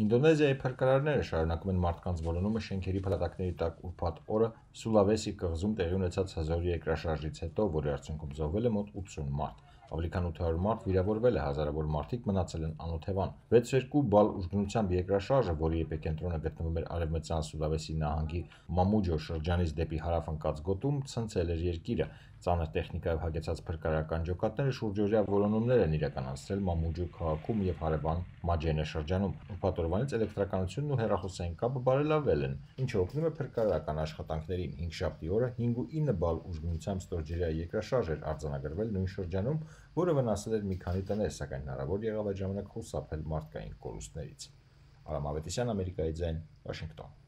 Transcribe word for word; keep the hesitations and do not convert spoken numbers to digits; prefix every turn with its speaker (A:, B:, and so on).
A: Ինդոնեզիայի փրկարարները շարունակում են մարդկանց որոնումը շենքերի փլատակների տակ ուրբաթ օրը Սուլավեսի կղզում տեղի ունեցած հզոր երկրաշարժից հետո, որի արդյունքում զոհվել է մոտ ութսուն մարդ։ Ավելի քան ութ հարյուր մարդ վիրավորվել է, հազարավոր մարդիկ մնացել են անօթևան։ վեց փասունյոթ երկու բալ ուժգնությամբ երկրաշարժը, որի էպիկենտրոնը գտնվում էր արևմտյան Սուլավեսի նահանգի Մամուջո շրջանից դեպի հարավ ընկած գոտում, ցնցել էր երկիրը։ Ծանր տեխնիկայով հագեցած փրկարարական ջոկատները շուրջօրյա որոնումներ են իրականացրել Մամուջո քաղաքում եւ հարևան Մաջենե շրջանում։ Ուրբաթ օրվանից էլեկտրականությունն ու հեռախոսային կապը բարելավվել են, ինչը օգնում է փրկարարական աշխատանքներին։ Հինգշաբթի օրը հինգ ու ինը բալ ուժգնությամբ ստորջրյա երկրաշարժ էր արձանագրվել նույն շրջանում, որը վնասել էր մի քանի տներ, սակայն հնարավոր եղավ այդ ժամանակ խուսափել մարդկային կորուստներից։ Արամ Ավետիսյան, Ամերիկայի ձայն, Վաշինգտոն։